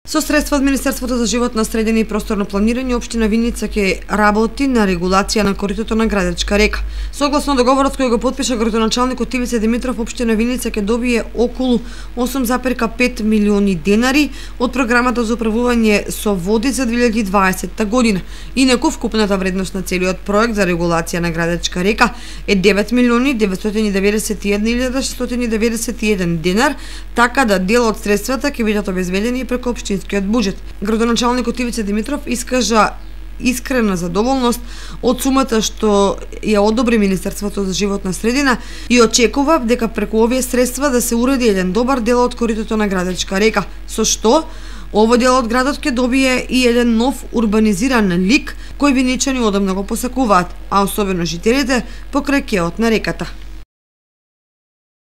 Со средства од Министерството за животна средина и просторно планирање, општина Виница ќе работи на регулација на коритото на Градечка река. Согласно договорот кој го потпиша градоначалникот Ивица Димитров, општина Виница ќе добие околу 8,5 милиони денари од програмата за управување со води за 2020 година. Инаку вкупната вредност на целиот проект за регулација на Градечка река е 9.991.691 денар, така да дел од средствата ќе бидат обезбедени преку општинскиот буџет. Градоначалникот Ивица Димитров искажа искрена задоволност од сумата што ја одобри Министерството за животна средина и очекува дека преку овие средства да се уреди еден добар дел од коритото на Градечка река, со што овој дел од градот ќе добие и еден нов урбанизиран лик кој виничани одамна го посакуваат, а особено жителите покрај кеот на реката.